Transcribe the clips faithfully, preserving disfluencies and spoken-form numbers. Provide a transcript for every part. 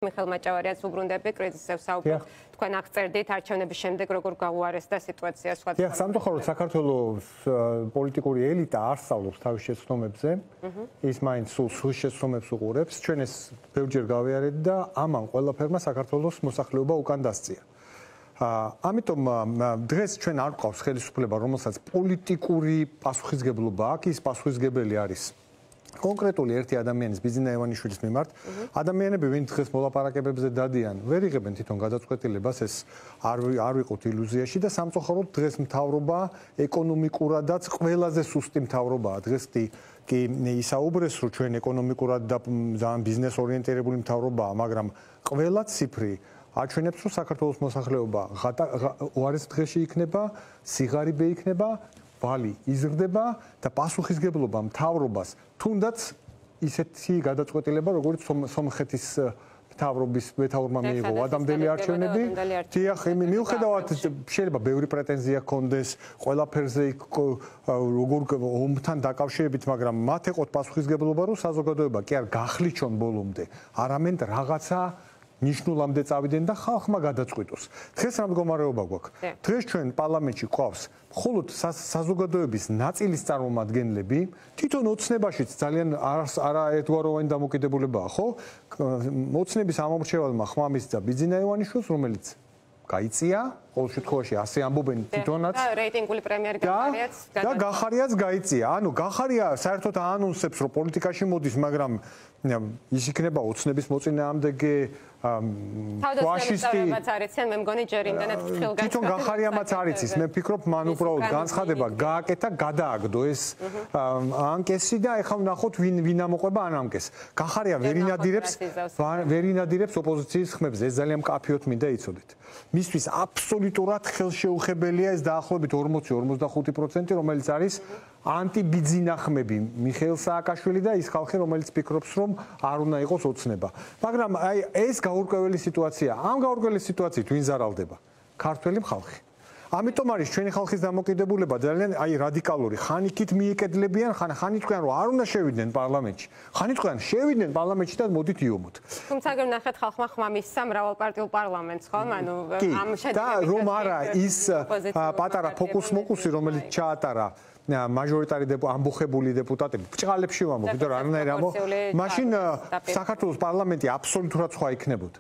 მიხეილ მაჭავარიანს უბრუნდები კრიზისებს საუბრობ. თქვენ აღწერდით არჩევნების შემდეგ როგორ გაუარესდა სიტუაცია სხვა. დიახ, სამწუხაროდ საქართველოს პოლიტიკური ელიტა არ სწავლობს თავის შეცდომებზე. ის მაინც სულ შეცდომებს უყურებს. ჩვენ ეს ბევრჯერ გავიარეთ და ამან ყველაფერმა საქართველოს მოსახლეობა უკან დასწია. ამიტომ დღეს ჩვენ არ გვყავს ხელისუფლება, რომელსაც პოლიტიკური პასუხისგებლობა აქვს, ის პასუხისგებელი არის კონკრეტული ერთი ადამიანის ბიზინა ევანიშვილის მიმართ. ადამიანები, ვინც დღეს მოლაპარაკებებზე დადიან, ვერ იღებენ თვითონ გადაწყვეტილებას, ეს არ არ ვიყოთ ილუზიაში და სამწუხაროდ დღეს მთავრობა ეკონომიკურადაც ყველაზე სუსტი მთავრობაა. დღეს კი ისაუბრეს, რომ ჩვენ ეკონომიკურად და ძალიან ბიზნეს ორიენტირებული მთავრობაა, მაგრამ ყველა ციფრი აჩვენებს, რომ საქართველოს მოსახლეობა უარეს დღეში იქნება, სიღარიბე იქნება, ვალი იზრდება და პასუხისგებლობა მთავრობას თუნდაც ისეთი გადაწყვეტილება, როგორც სომხეთის მთავრობის მეთაურმა მიიღო ადამდელი არჩევნები. დიახ, მიუხედავად შეიძლება ბევრი პრეტენზია ჰქონდეს ყველაფერზე როგორ ომთან დაკავშირებით, მაგრამ მათ ეყოთ პასუხისგებლობა, რომ საზოგადოება კი არ გახლიჩონ ბოლომდე, არამედ რაღაცა ნიშნულამდე წავიდნენ და ხალხმა გადაწყვიტოს. დღეს რა მდგომარეობა გვაქვს? დღეს ჩვენ პარლამენტში გვყავს მხოლოდ საზოგადოების ნაწილის წარმომადგენლები, თვითონ ოცნებაშიც ძალიან არაერთგვაროვანი დამოკიდებულებაა, ხო? ოცნების ამომრჩევალმა ხმამისცა ბიძინა ევანიშვილს, რომელიც გაიწია, ყოველ შემთხვევაში ასე ამბობენ თვითონაც. და რეიტინგული პრემიერი გახარიაც და გახარიაც გაიწია. ანუ გახარია საერთოდ აანონსებს, რომ პოლიტიკაში მოდის, მაგრამ ის იქნება ოცნების მოწინააღმდეგე ფაშისტი. თავდასხმებაც არიციან, მე მგონი ჯერ იმდანაც ფრთხილ განცხადება. თვითონ გახარიამაც არის ის, მე ვფიქრობ, მან უბრალოდ განცხადება გააკეთა, გადააგდო ეს ანკესი და ეხლა ვნახოთ ვინ ვინ ამოყვება ან ანკეს. გახარია ვერ ინადირებს, ვერ ინადირებს ოპოზიციის ხმებზე, ეს ძალიან მკაფიოდ მინდა იცოდეთ. მისთვის აბსოლუტურად ხელშეუხებელია ეს დაახლოებით ორმოცი ორმოცდახუთი პროცენტი, რომელიც არის ანტიბიძინა ხმები, მიხეილ სააკაშვილი და ის ხალხი, რომელიც ფიქრობს, რომ არ უნდა იყოს ოცნება. მაგრამ აი ეს გაურკვეველი სიტუაცია. ამ გაურკვეველი სიტუაციით ვინ ზარალდება? ქართველი ხალხი. ამიტომ არის ჩვენი ხალხის დამოკიდებულება ძალიან აი რადიკალური. ხან იქით მიეკედლებიან, ხან ხან იტყვიან, რომ არ უნდა შევიდნენ პარლამენტში. ხან იტყვიან, შევიდნენ პარლამენტში და მოდით იომოთ. თუმცა აგერ ნახეთ ხალხმა ხმამისცა მრავალპარტიულ პარლამენტს, ხო? ანუ ამ შედეგებით და რომ არა ის პატარა ფოკუს-მოკუსი, რომელიც ჩაატარა მაჟორიტარი ამბოხებული დეპუტატები ბრჭყალებში ვამბობ, იმიტომ რომ არანაირ ამბო მაშინ საქართველოს პარლამენტი აბსოლუტურად სხვა იქნებოდა.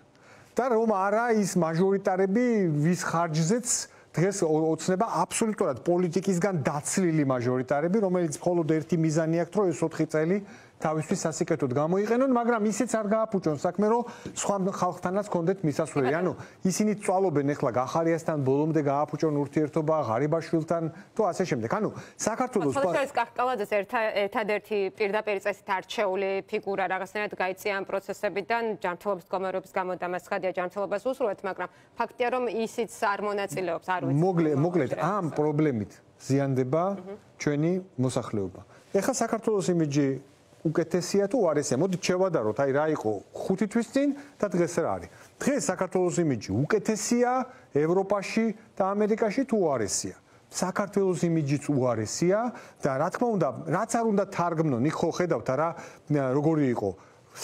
და რომ არა ის მაჟორიტარები ვის ხარჯზეც დღეს ოცნება აბსოლუტურად პოლიტიკისგან დაცლილი მაჟორიტარები, რომელიც მხოლოდ ერთი მიზანი აქვს, რომ ეს ოთხი წელი თავისთვის სასიკეთოდ გამოიყენონ, მაგრამ ისიც არ გააფუჭონ საქმე, რომ სხვა ხალხთანაც კონდეთ მისასვლელი. ანუ ისინი წვალობენ ახლა გახარიასთან ბოლომდე გააფუჭონ ურთიერთობა ღარიბაშვილთან თუ ასე შემდეგ. ანუ საქართველოს ფოლიშერის კახკალაძეს ერთადერთი პირდაპირ წესით არჩეული ფიგურა რაღაცნაირად გაიწია ამ პროცესებიდან, ჯანმრთელობის მდგომარეობის გამო და მას ხადია ჯანმრთელობას უსურვეთ, მაგრამ ფაქტია, რომ ისიც არ მონაწილეობს, არ ვიცი. მოკლედ ამ პრობლემით ზიანდება ჩვენი მოსახლეობა. ეხლა საქართველოს იმიჯი უკეთესია თუ უარესია? მოდით შევადაროთ, აი რა იყო ხუთი თვის წინ და დღეს რა არის. დღეს საქართველოს იმიჯი უკეთესია ევროპაში და ამერიკაში თუ უარესია? საქართველოს იმიჯიც უარესია და რა თქმა უნდა, რაც არ უნდა თარგმნონ, იქ ხო ხედავთ რა როგორი იყო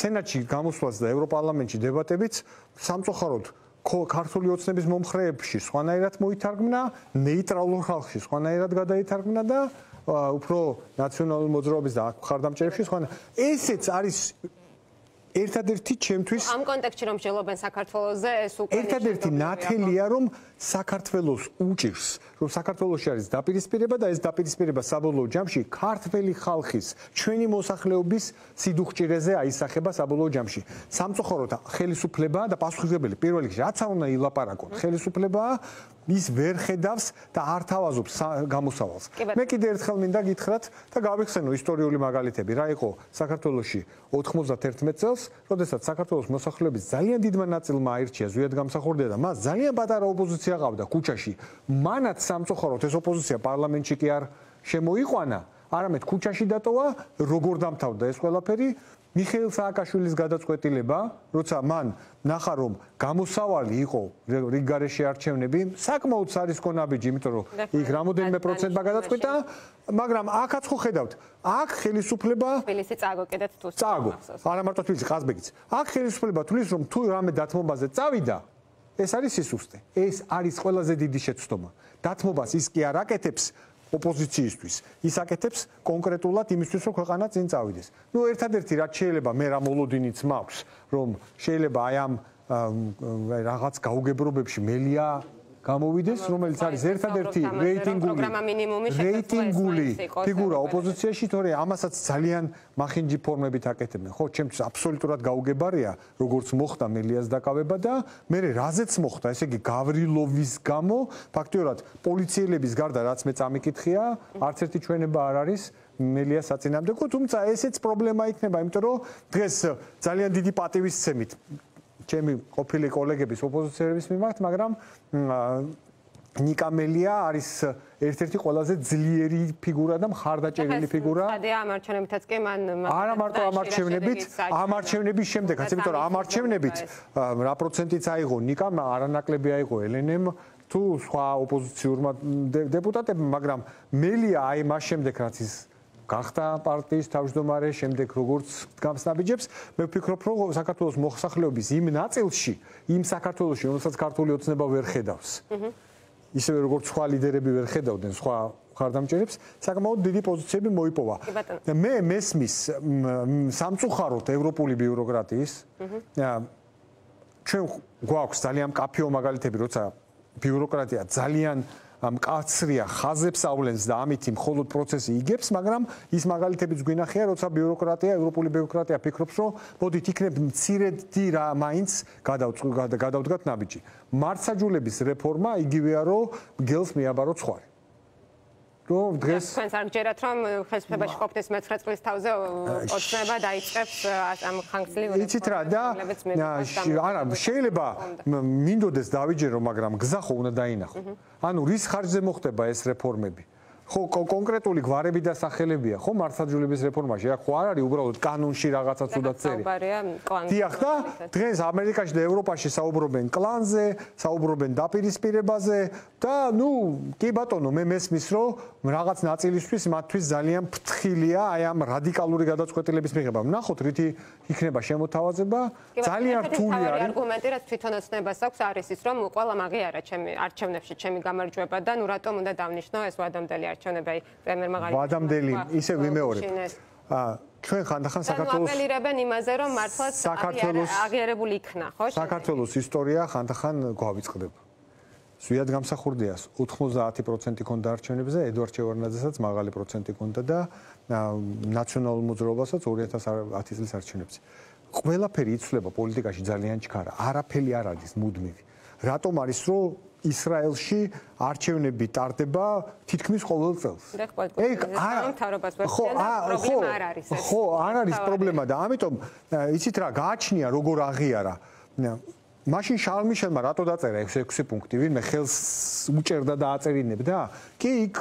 სენატში გამოსვლაც და ევროპარლამენტში დებატებიც, სამწუხაროდ ქართული ოცნების მომხრეებში სხვანაირად მოითარგმნა, ნეიტრალურ ხალხში სხვანაირად გადაითარგმნა და უფრო ნაციონალური მოძრაობის და მხარდამჭერებში სხვა. ესეც არის ერთადერთი ჩემთვის ამ კონტექსტში რომ შელობენ საქართველოზე ეს უკვე ერთადერთი ნათელია რომ საქართველოს უჭირს რომ საქართველოში არის დაპირისპირება და ეს დაპირისპირება საბოლოო ჯამში ქართველი ხალხის ჩვენი მოსახლეობის სიდუხჭირეზე აისახება საბოლოო ჯამში. სამწუხაროდ ხელისუფლება და პასუხისმგებელი პირველ რიგში რაც არ უნდა ილაპარაკონ ხელისუფლება ის ვერ ხედავს და არ თავაზობს გამოსავალს. მე კიდე ერთხელ მინდა გითხრათ და გავიხსენო ისტორიული მაგალითები. რა იყო საქართველოში ოთხმოცდაერთი წელს, როდესაც საქართველოს მოსახლეობის ძალიან დიდმა ნაწილმა აირჩია ზვიად გამსახურდია და მას ძალიან პატარა ოპოზიცია ყავდა ქუჩაში. მანაც სამწუხაროდ ეს ოპოზიცია პარლამენტში კი არ შემოიყვანა, არამედ ქუჩაში დატოვა, როგორ დამთავრდა ეს ყველაფერი. მიხეილ სააკაშვილის გადაწყვეტილება, როცა მან ნახა რომ გამოსავალი იყო რიგ გარეშე არჩევნები, საკმაოდ სარისკონაბიჯი, იმიტომ რომ იქ რამოდენიმე პროცენტმა გადაწყვეტა, მაგრამ აქაც ხო ხედავთ, აქ ხელისუფლება თბილისი წააგო კიდეც თუ წააგო, არა მარტო თბილისი, ყაზბეგიც. აქ ხელისუფლება თulis რომ თუ რამე დათმობაზე წავიდა, ეს არის სისუსტე. ეს არის ყველაზე დიდი შეცდომა. დათმობას ის კი არ აკეთებს ოპოზიციისთვის. ის აკეთებს კონკრეტულად იმისთვის, რომ ქვეყანა წინ წავიდეს. ნუ ერთადერთი რაც შეიძლება მე რა მოლოდინიც მაქვს, რომ შეიძლება აი ამ რაღაც გაუგებრობებში მელია გამოვიდეს, რომელიც არის ერთადერთი რეიტინგული რეიტინგული ფიგურა ოპოზიციაში, თორე ამასაც ძალიან მახინჯი ფორმებით აკეთებენ. ხო, ჩემთვის აბსოლუტურად გაუგებარია, როგორც მოხდა მელიას დაკავება და მე რაზეც მოხდა, ესე იგი გავრილოვის გამო, ფაქტიურად პოლიციელების გარდა რაც მე წამიკითხია, არც ერთი ჩვენება არ არის მელიას საწინააღმდეგო, თუმცა ესეც პრობლემა იქნება, იმიტომ რომ დღეს ძალიან დიდი პატივისცემით ჩემი ყოფილი კოლეგების ოპოზიციელების მიმართ, მაგრამ ნიკა მელია არის ერთ-ერთი ყველაზე ძლიერი ფიგურა და მხარდაჭერილი ფიგურა. ამ არჩევნებითაც კი მან არა მარტო ამ არჩევნებით, ამ არჩევნების შემდეგაც, იმიტომ რომ ამ არჩევნებით რა პროცენტიც აიღო ნიკამ, არანაკლები აიღო ელენემ თუ სხვა ოპოზიციურმა დეპუტატებმა, მაგრამ მელია აი მას შემდეგ რაც ის გახდა პარტიის თავმჯდომარე, შემდეგ როგორც გამსნაბიჯებს, მე ვფიქრობ, რომ საქართველოს მოსახლეობის იმ ნაწილში, იმ საქართველოში, რომელსაც ქართული ოცნება ვერ ხედავს. ისევე როგორც სხვა ლიდერები ვერ ხედავდნენ სხვა მხარდამჭერებს, საკმაოდ დიდი პოზიციები მოიპოვა. მე მესმის სამწუხაროდ ევროპული ბიუროკრატიის. ჩვენ გვაქვს ძალიან მკაფიო მაგალითები, როცა ბიუროკრატია ძალიან მკაცრია, ხაზებს ავლენს და ამით მხოლოდ პროცესი იგებს, მაგრამ ის მაგალითებიც გვინახია, როცა ბიუროკრატია, ევროპული ბიუროკრატია ფიქრობს, რომ მოდით იქნებ მცირედი რა მაინც გადავდგათ ნაბიჯი. მართსაჯულების რეფორმა იგივეა, რომ გელს მიაბაროთ სხვარი. რომ დღეს თქვენს არ გჯერათ, რომ ხელისუფლებაში ყოფნის მეცხრე წლის თავზე ოცნება დაიწყებს ამ ხანგრძლივ იცით რა და არა შეიძლება მინდოდეს დავიჯერო, მაგრამ გზა ხო უნდა დაინახო. ანუ რის ხარჯზე მოხდება ეს რეფორმები? ხო, კონკრეტული გვარები და სახელებია, ხო, მართლმსაჯულების რეფორმაში, რა ხო არ არის უბრალოდ კანონში რაღაცა ცუდად წერი. დიახ და დღეს ამერიკაში და ევროპაში საუბრობენ კლანზე, საუბრობენ დაპირისპირებაზე და ნუ კი ბატონო, მე მესმის, რომ რაღაც ნაწილისთვის მათთვის ძალიან ფრთხილია აი ამ რადიკალური გადაწყვეტილების მიღება. ნახოთ, რითი იქნება შემოთავაზება, ძალიან რთული არის. არგუმენტი, რაც თვითონაც ნებას აქვს, არის ის, რომ ყველა მაგიარა ჩემი არჩევნებში ჩემი გამარჯვება და ნუ რატომ უნდა დავნიშნო ეს ვადამდელი არჩევნები პრემიერმა ღალატი. ვადამდელი ისე ვიმეორებ. აა ჩვენ ხანდახან საქართველოს აპელირებენ იმაზე, რომ მართლაც აღიარებული იქნა, ხო? საქართველოს ისტორია ხანდახან გვავიწყდება. ზვიად გამსახურდია ოთხმოცდაათი პროცენტი ქონდა არჩევნებზე, ედვარდ შევარდნაძესაც მაღალი პროცენტი ქონდა და ნაციონალურ მოძრაობასაც ორი ათას ათი წლის არჩევნებზე. ყველაფერი იცვლება პოლიტიკაში ძალიან ჩქარა. არაფერი არ არის მუდმივი. რატომ არის რომ ისრაელში არჩევნები ტარდება თითქმის ყოველ წელს? ეგ ხო, არ არის ეს. ხო, არ არის პრობლემა და ამიტომ იცით რა, გააჩნია როგორ აღიარა. მაშინ შარლ მიშელმა რატო დაწერა ეს ექვსი პუნქტი, ვინმე ხელს უჭერდა და აწერინებდა? კი, იქ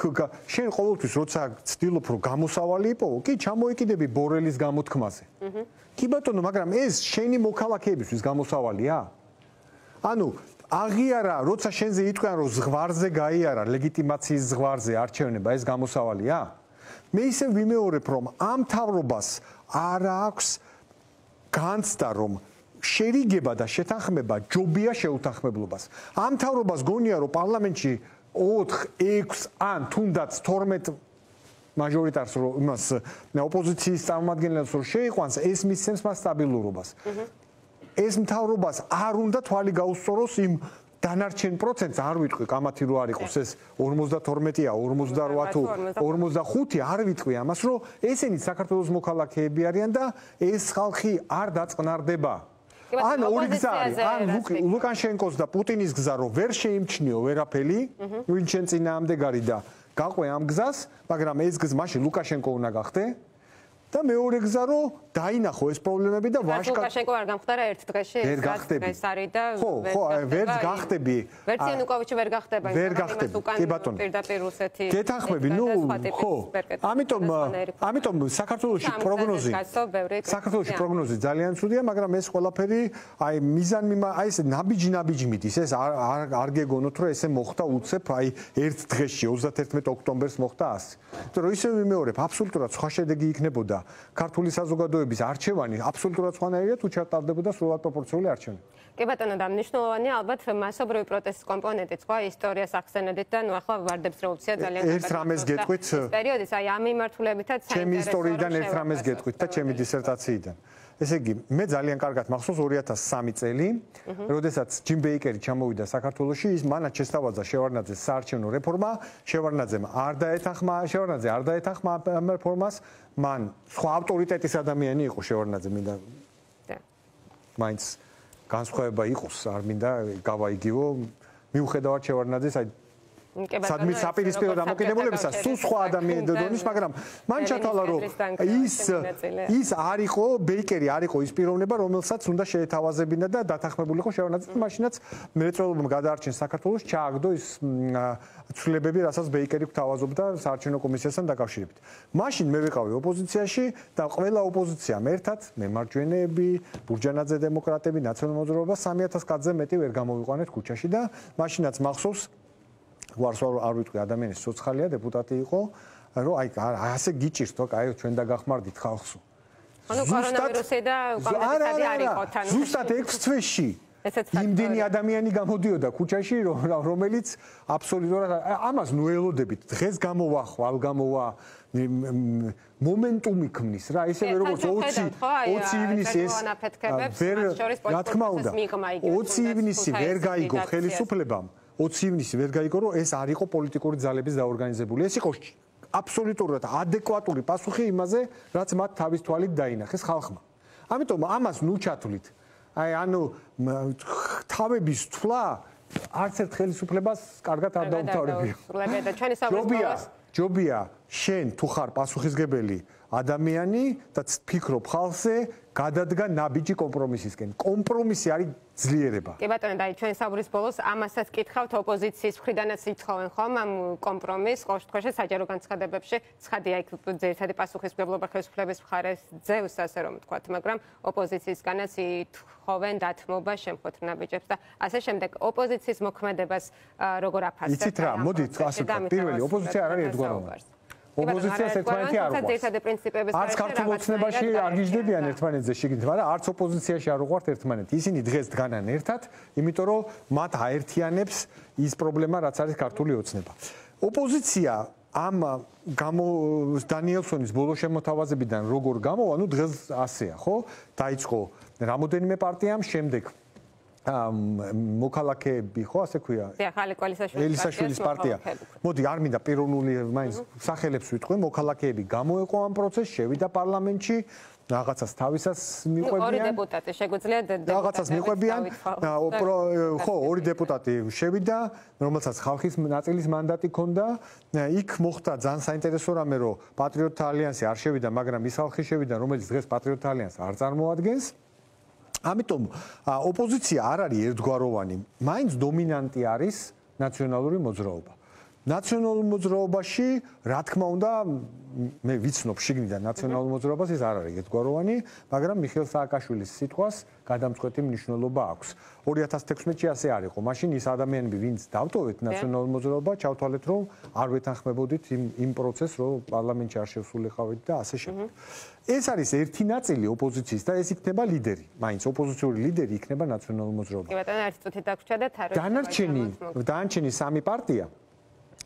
შენ ყოველთვის როცა ცდილობ რომ გამოსავალი იპოვო, კი ჩამოიკიდები ბორელის გამოთქმაზე. კი ბატონო, მაგრამ ეს შენი მოქალაქეებისთვის გამოსავალია? ანუ აღიარა, როცა შენზე იტყვიან რომ ზღვარზე გაიარა, ლეგიტიმაციის ზღვარზე არჩევნება, ეს გამოსავალია? მე ისე ვიმეორებ, რომ ამ მთავრობას არ აქვს განცდა, რომ შერიგება და შეთანხმება ჯობია შეუთანხმებლობას. ამ მთავრობას გონია, რომ პარლამენტში ოთხ, ექვს ან თუნდაც თორმეტ მაჟორიტარს რომ იმას ოპოზიციის წარმომადგენლებს რომ შეიყვანს, ეს მისცემს მას სტაბილურობას. ეს მთავრობას არ უნდა თვალი გაუსწოროს იმ დანარჩენ პროცენტს, არ ვიტყვი კამათი რო არ იყოს ეს ორმოცდათორმეტია, ორმოცდარვა თუ ორმოცდახუთი, არ ვიტყვი ამას, რომ ესენი საქართველოს მოქალაქეები არიან და ეს ხალხი არ დაწყნარდება. ან ორი გზა არის, ან ლუკაშენკოს და პუტინის გზა რო ვერ შეიმჩნიო ვერაფერი, ვინ შენ წინააღმდეგარი და გაყვე ამ გზას, მაგრამ ეს გზა მაშინ ლუკაშენკო უნდა გახდე. და მეორე გზა რომ დაინახო ეს პრობლემები და ვაშკარად ლუკაშენკო არ გამხდარა ერთ დღეში ვერ გახდები ეს არის და ხო ხო ვერ გახდები ვერც იანუკოვიჩი ვერ გახდება ვერ გახდები კი ბატონო პირდაპირ რუსეთი გეთანხმები ნუ ხო ამიტომ ამიტომ საქართველოში პროგნოზი საქართველოში პროგნოზი ძალიან ცუდია მაგრამ ეს ყველაფერი აი მიზანი აი ეს ნაბიჯი ნაბიჯი მიდის ეს არ არ გეგონოთ რომ ესე მოხდა უცებ აი ერთ დღეში ოცდაერთმეტ ოქტომბერს მოხდა ასე იმიტომ რომ ისე ვიმეორებ აბსოლუტურად სხვა შედეგი იქნებოდა ქართული საზოგადოების არჩევანი აბსოლუტურად სხვანაირია თუ ჩატარდებოდა სრულად პროპორციული არჩევანი კი ბატონო და მნიშვნელოვანია ალბათ მასობრივი პროტესტის კომპონენტიც ხო ისტორიას ახსენებდით და ნუ ახლა ვარდებს რევოლუცია ძალიან ერთ რამეს გეტყვით პერიოდის აი ამ მიმართულებითაც ჩემი ისტორიიდან ერთ რამეს გეტყვით და ჩემი დისერტაციიდან ესე იგი მე ძალიან კარგად მახსოვს ორი ათას სამი წელი როდესაც ჯიმ ბეიკერი ჩამოვიდა საქართველოში ის მანაც შესთავაზა შევარდნაძეს საარჩევნო რეფორმა შევარდნაძემ არ დაეთანხმა შევარდნაძე არ დაეთანხმა ამ რეფორმას მან სხვა ავტორიტეტის ადამიანი იყო შევარდნაძე მინდა მაინც განსხვავება იყოს არ მინდა გავაიგივო მიუხედავად შევარდნაძეს აი სადმე საპირისპირო დამოკიდებულებისა სულ სხვა ადამიანის დონის მაგრამ მან ჩათვალა რომ ის ის არ იყო ბეიკერი არ იყო ის პიროვნება რომელსაც უნდა შეეთავაზებინა და დათანხმებულიყო შევარდნაძე მაშინაც მრეწველობამ გადაარჩენს საქართველოს ჩააგდო ის ცვლილებები რასაც ბეიკერი გვთავაზობდა საარჩევნო კომისიასთან დაკავშირებით მაშინ მე ვიყავი ოპოზიციაში და ყველა ოპოზიციამ ერთად მემარჯვენეები ბურჯანაძე დემოკრატები ნაციონალურ მოძრაობა სამი ათას კაცზე მეტი ვერ გამოვიყვანეთ ქუჩაში და მაშინაც მახსოვს ვარს არ ვიტყვი ადამიანის სოციალია დეპუტატი იყო რომ აი ასე გიჭირს თო აი ჩვენ დაგახმარდით ხალხსო ანუ კორონავირუსი და კომუნიკაცია არ იყო თან ზუსტად ექვს თვეში იმდენი ადამიანი გამოდიოდა ქუჩაში რომელიც აბსოლუტურად ამას ნუ ელოდებით დღეს გამოვა ხვალ გამოვა მომენტუმი ქმნის რა ისევე როგორც ოცი ოცი ივნისი ეს ვერ რა თქმა უნდა ოცი ივნისი ვერ გაიგო ხელისუფლებამ ოცი ივნისი ვერ გაიგო რომ ეს არ იყო პოლიტიკური ძალების დაორგანიზებული ეს იყო აბსოლუტურად ადეკვატური პასუხი იმაზე რაც მათ თავის თვალით დაინახეს ხალხმა ამიტომ ამას ნუ ჩათვლით აი ანუ თავების თვლა არც ერთ ხელისუფლებას კარგად არ დაუმთავრებია ჯობია ჯობია შენ თუ ხარ პასუხისგებელი ადამიანი და ფიქრობ ხალხზე გადადგა ნაბიჯი კომპრომისისკენ კომპრომისი არის ძლიერება კი ბატონო და ჩვენ საუბრის ბოლოს ამასაც კითხავთ ოპოზიციის მხრიდანაც იცხოვენ ხომ ამ კომპრომისს ყოველ შემთხვევაში საჯარო განცხადებებში ცხადია იქ ძირითადი პასუხისმგებლობა ხელისუფლების მხარეს ძევს ასე რომ ვთქვათ მაგრამ ოპოზიციისგანაც ითხოვენ დათმობა შემხოთ ნაბიჯებს და ასე შემდეგ ოპოზიციის მოქმედებას როგორ აფასებთ იცით რა მოდით ასე ვთქვათ პირველი ოპოზიცია არ არის ერთგვაროვანი ოპოზიციას ერთმანეთი არ უყვარს. არც ქართულ ოცნებაში არ გიждდებიან ერთმანეთზე შიგნით, მაგრამ არც ოპოზიციაში არ უყვართ ერთმანეთი. ისინი დღეს დგანან ერთად, იმიტომ რომ მათ აერთიანებს ის პრობლემა, რაც არის ქართული ოცნება. ოპოზიცია ამ გამო დანიელსონის ბოლო შემოთავაზებიდან როგორ გამოვა, ну დღეს ასეა, ხო? დაიწყო რამოდენიმე პარტიამ, შემდეგ მოქალაქეები ხო ასე ქვია ახალი ელისაშვილის პარტია მოდი არ მინდა პიროვნული მაინც სახელებს ვიტყვი მოქალაქეები გამოეყო ამ პროცესს შევიდა პარლამენტში რაღაცას თავისას მიყვებიან ორი დეპუტატი შეგვიძლია რაღაცას მიყვებიან ხო ორი დეპუტატი შევიდა რომელსაც ხალხის ნაწილის მანდატი ჰქონდა იქ მოხდა ძალიან საინტერესო რამე რომ პატრიოტთა ალიანსი არ შევიდა მაგრამ ის ხალხი შევიდა რომელიც დღეს პატრიოტთა ალიანსს არ წარმოადგენს ამიტომ ოპოზიცია არ არის ერთგვაროვანი, მაინც დომინანტი არის ნაციონალური მოძრაობა. ნაციონალურ მოძრაობაში, რა თქმა უნდა, მე ვიცნობ შიგნიდან ნაციონალურ მოძრაობას, ეს არ არის ერთგვაროვანი, მაგრამ მიხეილ სააკაშვილის სიტყვას გადამწყვეტი მნიშვნელობა აქვს. ორი ათას თექვსმეტში ასე არ იყო. მაშინ ის ადამიანები, ვინც დავტოვეთ ნაციონალურ მოძრაობა, ჩავთვალეთ, რომ არ ვეთანხმებოდით იმ იმ პროცესს, რომ პარლამენტში არ შევსულიყავით და ასე შემდეგ. ეს არის ერთი ნაწილი ოპოზიციის და ეს იქნება ლიდერი. მაინც ოპოზიციური ლიდერი იქნება ნაციონალურ მოძრაობა. კი ბატონო, ერთი წუთი დაგვრჩა და თარო. დანარჩენი, დანარჩენი სამი პარტია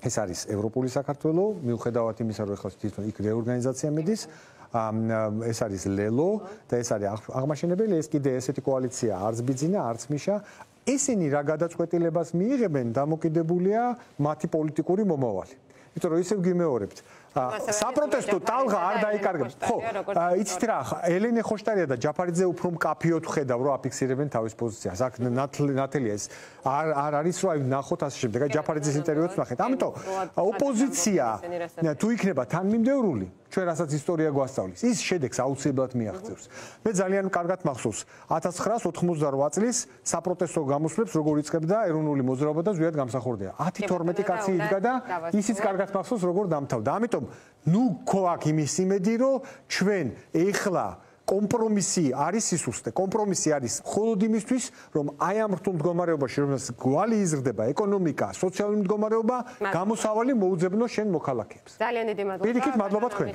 ეს არის ევროპული საქართველო, მიუხედავად იმისა, რომ ეხლა თვითონ იქ რეორგანიზაცია მიდის, ეს არის ლელო და ეს არის აღმაშენებელი, ეს კიდე ესეთი კოალიცია არც ბიძინა, არც მიშა. ესენი რა გადაწყვეტილებას მიიღებენ, დამოკიდებულია მათი პოლიტიკური მომავალი. იმიტომ რომ ისევ გიმეორებთ, საპროტესტო ტალღა არ დაიკარგება. ხო, იცით რა, ელენე ხოშტარია და ჯაფარიძე უფრო მკაფიოდ ხედავ რომ აფიქსირებენ თავის პოზიციას. აქ ნათელია ეს არ არ არის რომ აი ნახოთ ასე შემდეგ. აი ჯაფარიძის ინტერვიუც ნახეთ. ამიტომ ოპოზიცია თუ იქნება თანმიმდევრული ჩვენ რასაც ისტორია გვასწავლის, ის შედეგს აუცილებლად მიაღწევს. მე ძალიან კარგად მახსოვს ათას ცხრაას ოთხმოცდაოთხ წლის საპროტესტო გამოსვლებს როგორ იწყებდა ეროვნული მოძრაობა და ზვიად გამსახურდია. ათი თორმეტი კაცი იდგა და ისიც კარგად მახსოვს როგორ დამთავრდა. ამიტომ ნუ გვაქვს იმის იმედი რომ ჩვენ ეხლა კომპრომისი არის სისუსტე. კომპრომისი არის მხოლოდ იმისთვის, რომ აი ამ რთულ მდგომარეობაში, რომელსაც გვალი იზრდება ეკონომიკა, სოციალური მდგომარეობა, გამოსავალი მოუძებნოს შენ მოქალაქეებს. ძალიან დიდი მადლობა. პირიქით მადლობა თქვენ.